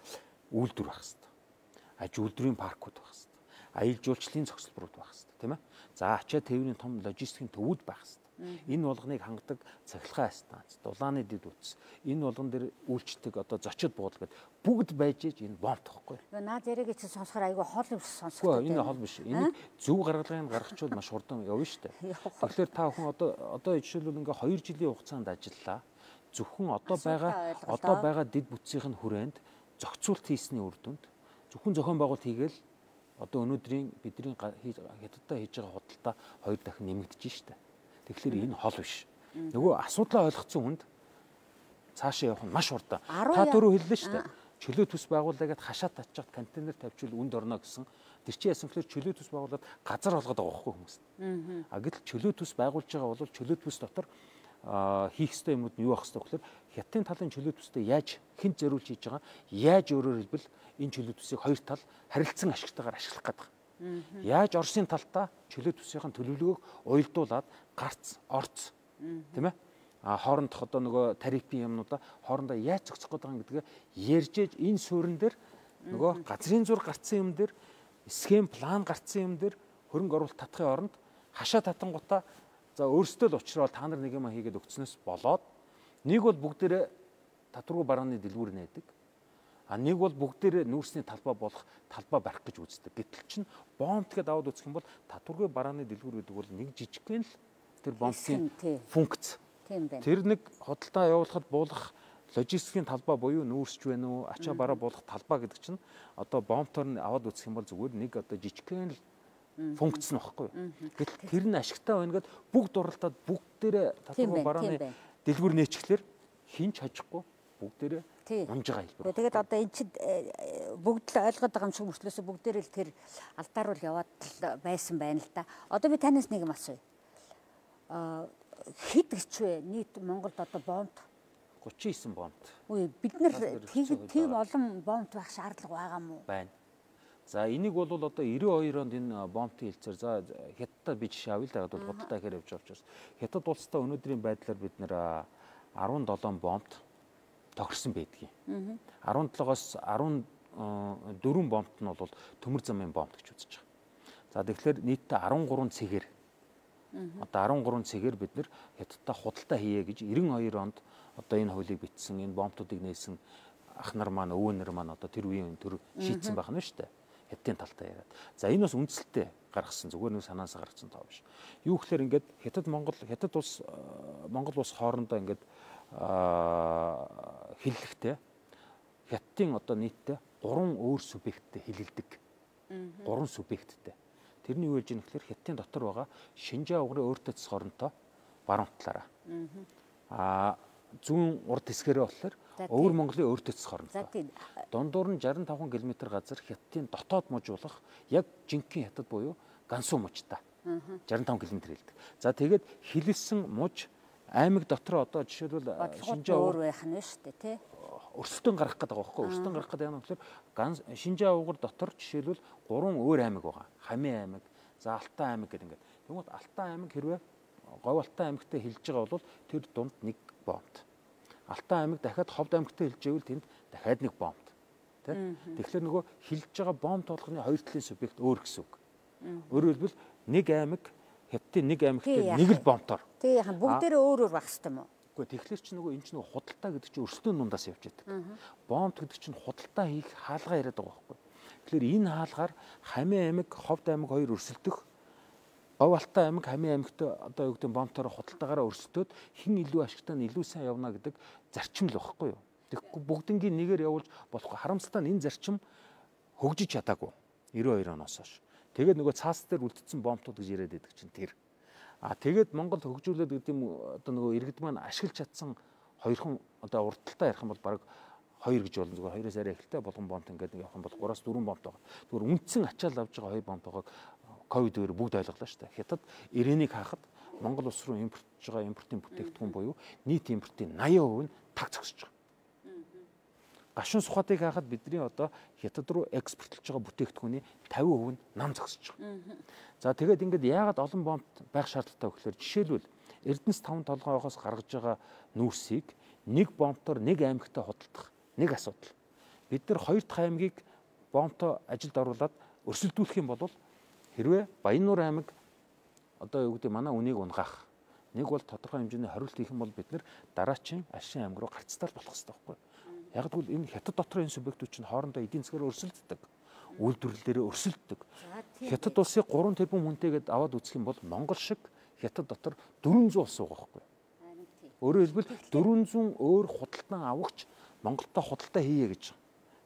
Үйлдвэр байх хэрэгтэй. Аж үйлдвэрийн паркууд байх хэрэгтэй. Аялал жуулчлалын цогцлборууд байх хэрэгтэй, тийм ээ. За ачаа тээврийн том логистикийн төвүүд байх хэрэгтэй. Энэ болгоныг хангадаг цахилгаан станц, дулааны дэд үтс, энэ болгон дээр үйлчлдэг одоо зочид буудал гэдэг бүгд байж иж энэ бомб тахгүй. Наад яриаг чи сонсохоор айгүй хол ус сонсох. Энэ хол биш. Энийг зөв гаргалгыг гаргахчвал маш хурдан явна шүү дээ. Тэгэхээр та бүхэн одоо жишээлбэл ингээ 2 жилийн хугацаанд ажиллаа. Зөвхөн одоо байгаа дэд бүтцийн хүрээнд зохицуулт хийсний үр дүнд зөвхөн зохион байгуулалт хийгээл одоо өнөөдрийн бидний хятадтай хийж байгаа худалдаа 2 дахин нэмэгдэж штэ. Тэгэхээр энэ хол биш. Нөгөө асуудлаа ойлгоцсон хүнд цаашаа явах нь маш хурдан. Та түрүү хэллээ шүү дээ. Чөлөө төс байгууллагад хашаа татчихад контейнер тавьчихвал үнд орно гэсэн. Тэр чинь яасан гэхээр чөлөө төс байгууллагад газар олгоод байгаа байхгүй хүмүүс. Гэтэл чөлөө төс байгуулж байгаа бол чөлөө төс дотор хийх ёстой юмуд нь юу байх ёстой гэхээр хятадын талын чөлөө төстэй яаж хэн зориулж хийж байгаа, яаж өөрөөр хэлбэл энэ чөлөө төсийг хоёр тал харилцан ашигтайгаар ашиглах гэдэг. Яаж Оросын талтаа чөлөө төсийн төлөвлөгөөг уялдуулад гарц, орц, тийм ээ? Хоорондох одоо нөгөө тарифын юмнуудаа хоорондоо яаж зохицох гэдэг юм гэдгээ ярьж ээж энэ суурин дээр нөгөө газрын зур гарцсан юм дээр схем план гарцсан юм дээр хөрөнгө оруулалт татахын оронд хашаа татангуудаа за өөрсдөө л учрал та нар нэг юм хийгээд өгснөөс болоод нэг бол бүгдээрээ татваргүй барааны дэлгүүр нээдэг. Нэг бол бүгдээрээ нүүрсний талбай болох талбай барих гэж үздэг. Гэтэл чинь бомб тэгээд аваад үзэх юм бол татваргүй барааны дэлгүүр гэдэг бол нэг жижигхэн л тэр бомбын функц. Тэр нэг худалдаа явуулахад буулгах логистикийн талбай буюу нүүрсч байна уу, ачаа бараа буулгах талбай гэдэг чинь одоо бомбтоор нь аваад үзэх юм бол зүгээр нэг одоо жижигхэн л функц нь багхгүй. Гэтэл тэр нь ашигтай байна гэд бүгд дурлалтад бүгдээрээ татваргүй барааны дэлгүүр нээчихлээр хинч хожихгүй бүгдээрээ унж байгаа хэлбэр. Тэгээд одоо эн чинь бүгд л ойлгоод байгаа юм шиг мөртлөөсөө бүгдээрээ л тэр алдааруул яваад байсан байна л да. Одоо би танаас нэг юм асууя. Хэд гэж вэ? Нийт Монголд одоо бомб 39 бомб. Үгүй бид нар тийм олон бомб байх шаардлага байгаа мó? Байна. За энийг бол одоо 92 онд энэ бомбын хэлцээр за Хятадтай би жишээ авъя л да бол худалдаа ихээр явж байгаа учраас Хятад улстай өнөөдрийн байдлаар бид нэр 17 бомбт тохирсон байдгийг. 17-оос 14 бомбт нь бол төмөр замын бомб гэж үзэж байгаа. За тэгэхээр нийтдээ 13 цэгээр одоо 13 цэгээр бид нэр Хятадтай худалдаа хийе гэж 92 онд одоо энэ хуулийг бичсэн, энэ бомбтуудыг нээсэн ах нар маань, өвөөнөр маань одоо тэр үеийн төр шийдсэн байх нь шүү дээ. Хятадын талтай яриад. За энэ бас үндсэлтэй гаргасан зүгээр нэг санаасаа гаргасан тоо биш. Юу гэхээр ингээд Хятад улс Монгол улс хоорондоо ингээд хиллэхтэй Хятадын одоо нийтдээ 3 өөр субъекттэй хилэлдэг. 3 субъекттэй. Тэрний юу гэж юм гэхээр Хятадын дотор байгаа Шинжаа угрын өөртөө цэс хоронтой баруун талаараа. Зүүн урд хэсгээрээ болохоор Өвөр Монголын өөртөө цэс хоронтой. Дундуур нь 65 км газар Хятадын дотоод мужуулах яг жинхэнэ Хятад буюу Гансу мужтай. 65 км хэлдэг. За тэгээд хилэлсэн муж аймаг дотор одоо жишээлбэл Шинжаа өөр байх нь шүү дээ тий. Өрсөлдөөн гарах гэдэг байгаа байхгүй. Өрсөлдөөн гарах гэдэг юм болохоор Шинжаа угар дотор жишээлбэл 3 өөр аймаг байгаа. Хамын аймаг, за Алтай аймаг гэдэг ингээд. Тэгмээд Алтай аймаг хэрвээ Говь Алтай аймагтай хэлж байгаа бол тэр дунд нэг бомб. Алтай аймаг дахиад Ховд аймагтай хэлж байвал тэнд дахиад нэг бомб. Тэ? Тэгэхээр нөгөө хэлж байгаа бомб толгоны хоёр талын субъект өөр гэсэн үг. Өөрөөр хэлбэл нэг аймаг Хятадын нэг аймагтай нэг л бомбтоор. Тэг яхан бүгдээрээ өөр өөр байх хэрэгтэй юм уу? Үгүй тэгэхээр чи нөгөө энэ ч нөгөө худалдаа гэдэг чинь өрсөлдөөн дундаас явж байдаг. Бомб гэдэг чинь худалдаа хийх хаалгаа яриад байгаа байхгүй. Тэгэхээр энэ хаалгаар Хамын аймаг, Ховд аймаг хоёр өрсөлдөх Говь Алтай аймаг, Хамын аймагт одоо юу гэдэг бомбтоор худалдаагаараа өрсөлдөөд хэн илүү ашигтай нь илүү сайн явна гэдэг зарчим л байхгүй юу? Тэгэхгүй бүгднгийн нэгээр явуулж болохгүй. Харамсалтай нь энэ зарчим хөгжиж чадаагүй. 92 оноос хойш. Тэгээд нөгөө цаас дээр үлдсэн бомбтууд гэж яриад байдаг чинь тэр. Тэгээд Монгол хөгжүүлээд гэдэг юм одоо нөгөө иргэд маань ашиглаж чадсан хоёрхан одоо уртталтаа ярих юм бол баг 2 гэж болно. Зүгээр 2-оос арай ихтэй болгон бомт ингээд явах юм бол 3-4 бомт байгаа. Зүгээр үндсэн ачаал авж байгаа 2 бомт байгааг ковидээр бүгд ойлголоо шүү дээ. Хятад ирээнийг хаахад Монгол улс руу импортж байгаа импортын бүтээгдэхүүн буюу нийт импортын 80% нь таг зогсож байгаа. Гашуун сухатыг хаахад бидний одоо Хятад руу экспортлж байгаа бүтээгдэхүүний 50% нь нам зогсож байгаа. За тэгээд ингээд яагаад олон бомт байх шаардлагатай вэ гэхээр жишээлбэл Эрдэнэс 5 толгойгоос гаргаж байгаа нүүрсийг нэг бомтоор нэг аймагтаа худалдах нэг асуудал. Бид нар 2 дахь аймгийг бомтоо ажилд оруулаад өрсөлдүүлэх юм бол хэрвээ Баяннуур аймаг одоо юу гэдэг манай үнийг унгаах нэг бол тодорхой хэмжээний хориулт хийх юм бол бид нар дараачийн Ашин аймаг руу гарцтал болох хэрэгтэй байхгүй. Яг тэгвэл энэ Хятад дотор энэ субъектүүд чинь хоорондоо эдийн засгаар өрсөлддөг. Үйлдвэрлэлээрээ өрсөлддөг. Хятад улсыг 3 тэрбум хүнтэйгээд аваад үзэх юм бол Монгол шиг Хятад дотор 400 улс байгаа байхгүй. Өөрөөр хэлбэл 400 өөр худалдан авагч Монголтой худалдаа хийе гэж.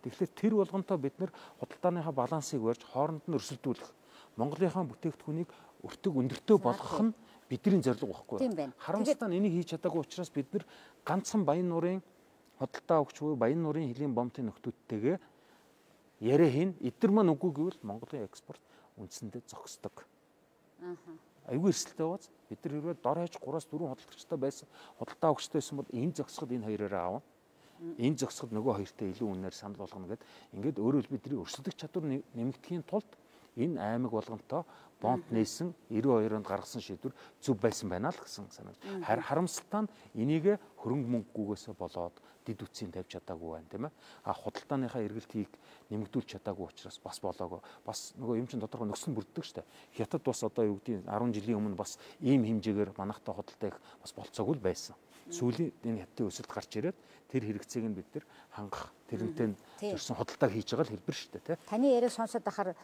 Тэгэхээр тэр болгонтой бид нэр худалдааныхаа балансыг барьж хооронд нь өрсөлдүүлэх. Монголынхаа бүтээгдэхүүнийг өртөг өндөртөө болгох нь бидний зорилго байхгүй. Харамсалтай нь энийг хийж чадаагүй учраас бид нэр ганцхан Баяннуурын худалдаа авагч буюу Баяннуурын хилийн бомтын нөхдүүдтэйгээ яриа хийн. Эдгээр маань үгүй гэвэл Монголын экспорт үндсэндээ зогсдог. Аюулгүй эрсдэлтэй байгааз бид нар хэрвээ дор хаяж 3-4 худалдагчтай байсан худалдаа авагчтай байсан бол энэ зогсоход энэ хоёроо аавна. Энэ зогсоход нөгөө хоёртой илүү үнээр санал болгоно гэд ингээд өөрөө бидний өрсөлдөх чадвар нэмэгдэхийн тулд энэ аймаг болгонтой бомт нээсэн 92 онд гаргасан шийдвэр зөв байсан байна л гэсэн санаа. Харамсалтай нь энийг хөрөнгө мөнгөгүйгээсээ болоод дид үтсийн тавьж чадаагүй байна тийм ээ. Худалдааныхаа эргэлтийг нэмэгдүүлж чадаагүй учраас бас болоогүй. Бас нөгөө юм чин тодорхой нөхцөл бүрддэг шүү дээ. Хятад бас одоо юу гэдэг 10 жилийн өмнө бас ийм хэмжээгээр манайхтай худалдаа их бас болцоогүй л байсан. Сүүлийн энэ хятадын өсөлт гарч ирээд тэр хэрэгцээг нь бид нар хангах тэрнтэй зорьсон худалдааг хийж байгаа л хэлбэр шүү дээ тийм. Таны яриа сонсоод ахаар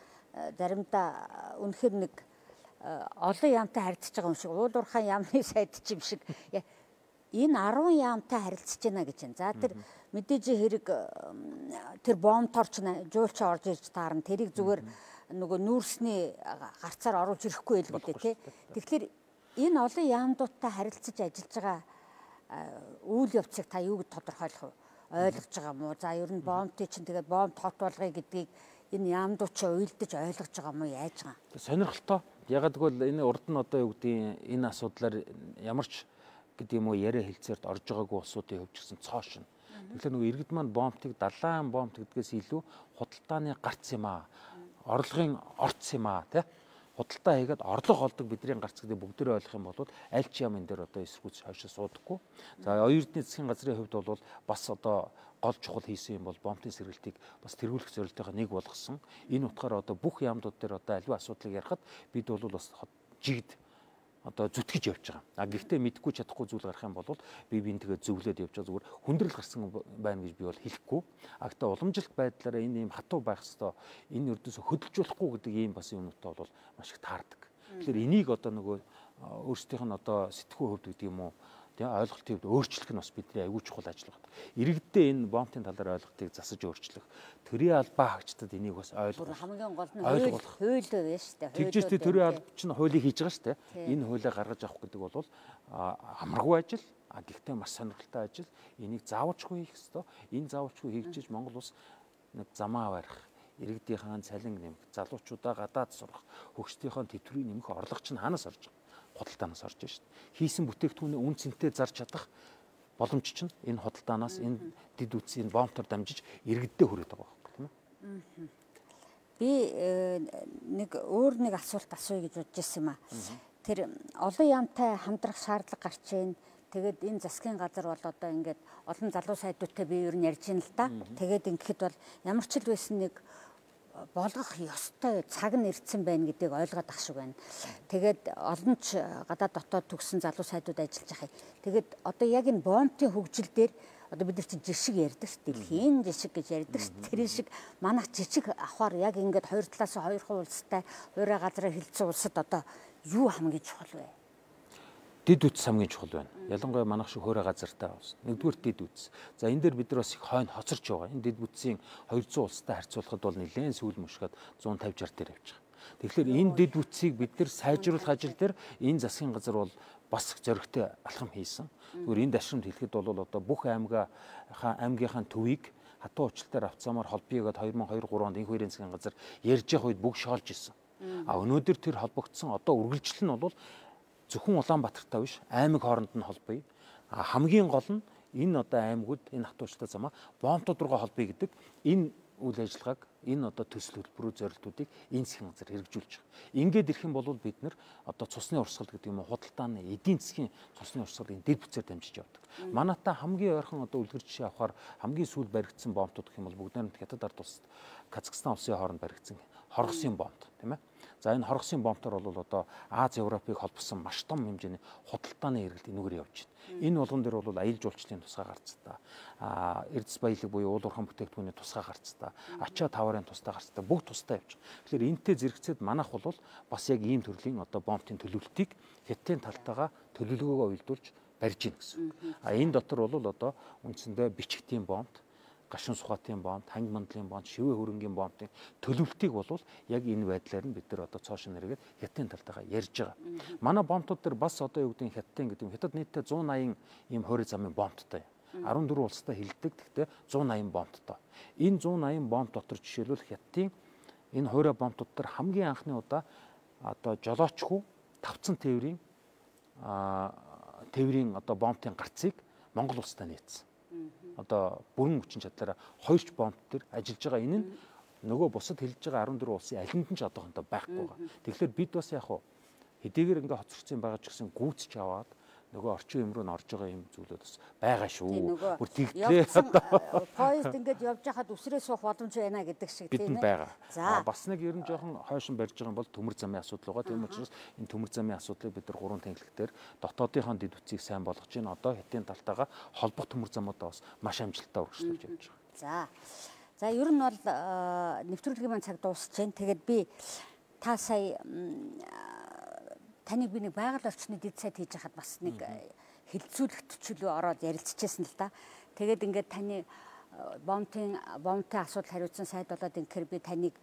заримдаа үнэхээр нэг олон яамтай харилцаж байгаа юм шиг уул уурхай яамны сайд ч юм шиг энэ 10 яамтай харилцаж байна гэж байна. За тэр мэдээж хэрэг тэр бомторч жуулч орж ирж таарна. Тэрийг зүгээр нөгөө нүүрсний гарцаар оруулж ирэхгүй л гэдэг тий. Тэгэхээр энэ олон яамдуудтай харилцаж ажиллаж байгаа үйл явцыг та юу гэж тодорхойлох вэ? Ойлгож байгаа мó? За ер нь бомтыг чинь тэгээд бомт хот болгоё гэдгийг энэ яамдууд ч уйлдаж ойлгож байгаа мó яаж байгаа? Сонирхолтой. Ягаад гэвэл энэ урд нь одоо юу гэдэг энэ асуудлаар ямар ч гэдэг юм уу яриа хэлцээрд орж байгаагүй улсуудын хувьд ч гэсэн цоо шин. Тэгэхээр нөгөө иргэд маань бомтыг далайн бомт гэдгээс илүү худалдааны гарц юм аа. Орлогын орц юм аа тий. Худалдаа хийгээд орлого олдог бидний гарц гэдэг бүгдээрээ ойлгох юм бол аль ч юм энэ дээр одоо эсэргүүц хойшоо суудаггүй. За оюутны засгийн газрын хувьд бол бас одоо гол чухал хийсэн юм бол бомтын сэргэлтийг бас тэргүүлэх зорилтойгоо нэг болгосон. Энэ утгаараа одоо бүх яамдууд дээр одоо аливаа асуудлыг ярихад бид бол бас жигд одоо зүтгэж явж байгаа. Гэхдээ мэдгүй чадахгүй зүйл гарах юм бол би тэгээ зөвлөд явж байгаа зүгээр хүндрэл гарсан байна гэж би бол хэлэхгүй. Гэхдээ уламжлалт байдлаараа энэ юм хатуу байх хэвээр энэ өрдөөсө хөдөлжүүлэхгүй гэдэг ийм бас юмнуудтай бол маш их таардаг. Тэгэхээр энийг одоо нөгөө өөрсдийнх нь одоо сэтгхүү хөвд гэдэг юм уу ойлголтын хувьд өөрчлөх нь бас бидний аягүй чухал ажил байна. Иргэддээ энэ бомтын талаар ойлголтыг засаж өөрчлөх. Төрийн албаа хаагчдад энийг бас ойлгох. Хамгийн гол нь хууль байна шүү дээ. Тэгжээс төрийн алба чинь хуулийг хийж байгаа шүү дээ. Энэ хуулийг гаргаж авах гэдэг бол амаргүй ажил. Гэхдээ маш сонирхолтой ажил. Энийг заавалчгүй хийх ёстой. Энэ заавалчгүй хийгчиж Монгол улс нэг замаа барих, иргэдийнхээ цалин нэмэх, залуучуудаа гадаад сурах, хөгжтийнхөө тэтгэврийг нэмэх орлого чинь хаанаас орж байгаа? Худалдаанаас орж байна шүү дээ. Хийсэн бүтээгдэхүүний үн цэнтэй зарж чадах боломж чинь энэ худалдаанаас энэ дид үтсийн бомтоор дамжиж иргэддээ хүрээд байгаа байхгүй тийм ээ. Би нэг өөр нэг асуулт асууя гэж бодож ирсэн юм аа. Тэр олон яамтай хамтрах шаардлага гарч ийн. Тэгээд энэ засгийн газар бол одоо ингээд олон залуу сайдуудтай би ер нь ярьж ийн л да. Тэгээд ингэхэд бол ямар ч л байсан нэг болгох ёстой цаг нь ирсэн байна гэдгийг ойлгоод ах шиг байна. Тэгээд олон ч гадаад дотоод төгссөн залуу сайдууд ажиллаж байгаа. Тэгээд одоо яг энэ бомтын хөгжил дээр одоо бид нар чинь жишг ярьдаг шүү дээ. Дэлхийн жишг гэж ярьдаг шүү. Тэр шиг манайх жижиг авахар яг ингээд хоёр талаас нь хоёр улстай хуурай газраар хилцсэн улсад одоо юу хамгийн чухал вэ? Дид үтс хамгийн чухал байна. Ялангуяа манайх шиг хуурай газартай улс. Нэгдүгээр дид үтс. За энэ дээр бид нар бас их хойно хоцорч байгаа. Энэ дид үтсийн 200 улстай харьцуулахад бол нэлээд сүүл мөшгөд 150-60 дээр явж байгаа. Тэгэхээр энэ дэд бүтцийг бид нэр сайжруулах ажил дээр энэ засгийн газар бол бас зоригтой алхам хийсэн. Зүгээр энэ дашрамд хэлэхэд бол одоо бүх аймгийнхаа төвийг хатуу уучлалтаар авцаамаар холбоёгээд 2002-3 онд энх хоёрын засгийн газар ярьж явах үед бүгд шоолж исэн. Өнөөдөр тэр холбогдсон одоо үргэлжлэл нь бол зөвхөн Улаанбаатартай биш аймаг хооронд нь холбоё. Хамгийн гол нь энэ одоо аймагуд энэ хатуу уучлалтай замаа бомтууд руугаа холбоё гэдэг энэ үйл ажиллагааг энэ одоо төсөл хөтөлбөрийн зорилтуудыг энэ засгийн газар хэрэгжүүлж байгаа. Ингээд ирэх юм бол бид нэр одоо цусны урсгал гэдэг юм уу худалдааны эдийн засгийн цусны урсгалын дэд бүтцээр дамжиж явдаг. Манайта хамгийн ойрхон одоо үлгэр жишээ авахаар хамгийн сүүл баригдсан бомтууд гэх юм бол бүгд найрамд Хятад ард улсад Казахстан улсын хооронд баригдсан хоргосын бомт тийм ээ. За энэ хоргосын бомтоор бол одоо Аз Европыг холбосон маш том хэмжээний худалдааны эргэлт энүүгээр явж байна. Энэ болгон дээр бол аялал жуулчлалын тусгай гарцтай, эрдэс баялаг буюу уул уурхайн бүтээгдэхүүний тусгай гарцтай, ачаа таварын тустай гарцтай бүгд тустай явж байгаа. Тэгэхээр энэтэй зэрэгцээд манайх бол бас яг ийм төрлийн одоо бомтын төлөвлөлтийг Хятадын талтайгаа төлөвлөгөөгөө уялдуулж барьж ийн гэсэн. Энэ дотор бол одоо үндсэндээ бичгтийн бомт, гашуун сухатын бомт, ханги мандлын бомт, шивээ хөрөнгийн бомтын төлөвлөлтийг бол яг энэ байдлаар нь бид нар одоо цоошин нэргээд Хятадын талтайгаа ярьж байгаа. Манай бомтууд дээр бас одоо юу гэдэг Хятадын гэдэг юм. Хятад нийтдээ 180 ийм хорийн замын бомттой. 14 улстай хилдэг. Гэхдээ 180 бомттой. Энэ 180 бомт дотор жишээлбэл Хятадын энэ хорийн бомтууд дээр хамгийн анхны удаа одоо жолоочгүй тавцсан тээврийн одоо бомтын гарцыг Монгол улстай нээсэн. Одоо бүрэн хүчин чадлаараа 2ч бомт төр ажиллаж байгаа. Энэ нь нөгөө бусад хэлж байгаа 14 улсын алинд нь ч одоохондоо байхгүй байгаа. Тэгэхээр бид бас яг хэдийгээр ингээ хоцорсон байгаа ч гэсэн гүйцэж аваад нөгөө орчин үе рүү н орж байгаа юм зүйлүүд бас байгаа шүү. Бүр тэгтлээ поезд ингээд явж хахад үсрээ суух боломж байна гэдэг шиг тийм ээ. Бас нэг ер нь жоохон хойшин барьж байгаа юм бол төмөр замын асуудал байгаа. Тийм учраас энэ төмөр замын асуудлыг бид нар 3 тэнхлэгтэр дотоодынхон дэд бүтцийг сайн болгож байна. Одоо Хятадын талтайгаа холбох төмөр замуудаа бас маш амжилттай үргэлжлүүлж явж байгаа. За ер нь бол нэвтрүүлгийн маань цаг дуусч байна. Тэгээд би та сая таныг би нэг байгаль орчны дэд сайд хийж хахад бас нэг хилцүүлэх төчлөө ороод ярилцчихсан л да. Тэгээд ингээд таны бомтын асуудал хариуцсан сайд болоод инхээр би таныг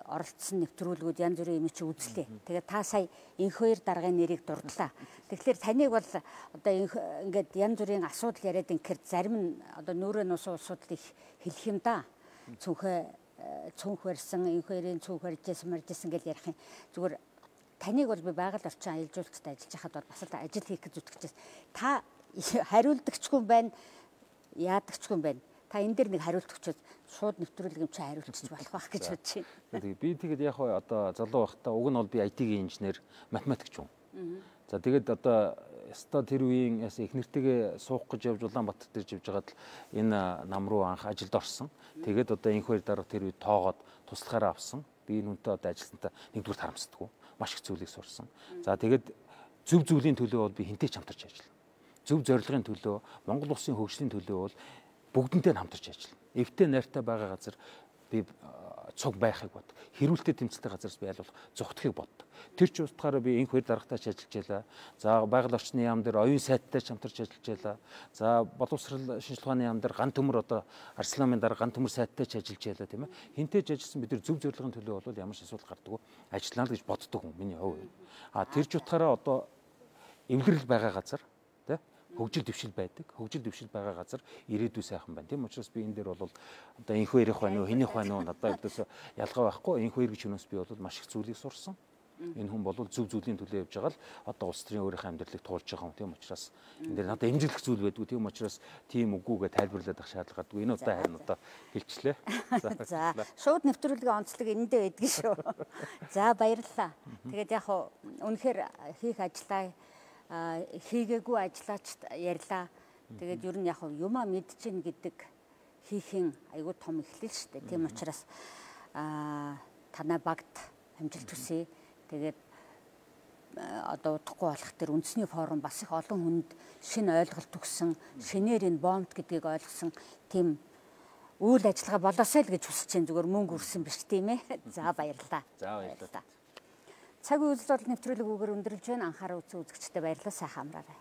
оролцсон нэвтрүүлгүүд янз бүрийн юм чи үзлээ. Тэгээд та сая энх хоёр даргын нэрийг дурдлаа. Тэгэхээр таныг бол одоо ингээд янз бүрийн асуудал яриад инхээр зарим нь одоо нүүрээ нусан улсуудыг хэлэх юм да. Цүнх барьсан, энх хоёрын цүнх барьжсэн гэж ярих юм. Зүгээр таныг бол би байгаль орчин аялал жуулчтай ажиллаж байхад бол бас л ажил хийх гэж зүтгэжсэн. Та хариулдагчгүй байна, яадагчгүй байна. Та энэ дээр нэг хариулт өгчөөд шууд нэвтрүүлэг юм чи хариулчих болох байх гэж бодож байна. Би тэгээд яг одоо залуу байхдаа уг нь бол би IT-ийн инженер, математикч юм. За тэгээд одоо яста тэр үеийн их нэртэйгээ суух гэж явж Улаанбаатар дээр живж байгаад л энэ нам руу анх ажилд орсон. Тэгээд одоо энх хоёр дараа тэр үед тоогоод туслахаараа авсан. Би энэ үнтэй одоо ажилласантаа нэгдүгээр харамсдаггүй. Маш их зүйлийг сурсан. За тэгээд зөв зүйлийн төлөө бол би хинтэй ч хамтарч ажиллана. Зөв зорилгын төлөө, Монгол улсын хөгжлийн төлөө бол бүгдэнтэй хамтарч ажиллана. Эвтэй найртай байгаа газар би цуг байхыг бод. Хэрүүлтэй тэмцэлтэй газараас би аль болох зүгтхийг боддог. Тэр ч утгаараа би энх хоёр дарагтайч ажиллаж байлаа. За байгаль орчны яам дээр оюун сайттай ч хамтарч ажиллаж байлаа. За боловсрал шинжилгээ ухааны яам дээр ган төмөр одоо Арсланын дараа ган төмөр сайттай ч ажиллаж байлаа тийм ээ. Хинтээж ажилласан бид нар зөв зорилгын төлөө бол ямар ч асуудал гардаггүй ажиллана л гэж боддог хүн миний хувь. Тэр ч утгаараа одоо эвлэрэл байгаа газар тийм хөгжил дэвшил байдаг. Хөгжил дэвшил байгаа газар ирээдүй сайхан байна. Тийм учраас би энэ дээр бол одоо энх хоёрын байна уу, хинийх байна уу надад өдөөс ялгаа байхгүй. Энх хоёр гэж хүнээс би бол маш их зүйлийг сурсан. Энэ хүн бол зөв зүйлийн төлөө явж байгаа л одоо улс төрийн өөрийнхөө амьдралыг туулж байгаа юм. Тийм учраас энэ дээр надад эмзэглэх зүйл байдгүй. Тийм учраас тийм үгүйгээ тайлбарлаад авах шаардлага гадгүй. Энэ удаа харин одоо хэлчлээ. За шууд нэвтрүүлгийн онцлог энэндээ байдгийн шүү. За баярлалаа. Тэгээд яг үнэхээр хийх ажлаа хийгээгүй ажиллаач ярьлаа. Тэгээд ер нь яг юмаа мэдчихнэ гэдэг хийхин айгүй том эхлэл шүү дээ. Тийм учраас танай багт амжилт хүсье. Тэгээд одоо удахгүй болох тэр үндэсний форум бас их олон хүнд шинэ ойлголт өгсөн, шинээр энэ бомт гэдгийг ойлгосон тийм үйл ажиллагаа болоосай л гэж хүсэж чинь зүгээр мөнгө өрсөн биш тийм ээ. За баярлалаа. За баярлалаа. Цаг үйл бол нэвтрүүлэг үгээр өндөрлж байна. Анхаарал үзэгчдэд баярлалаа. Сайхан амраарай.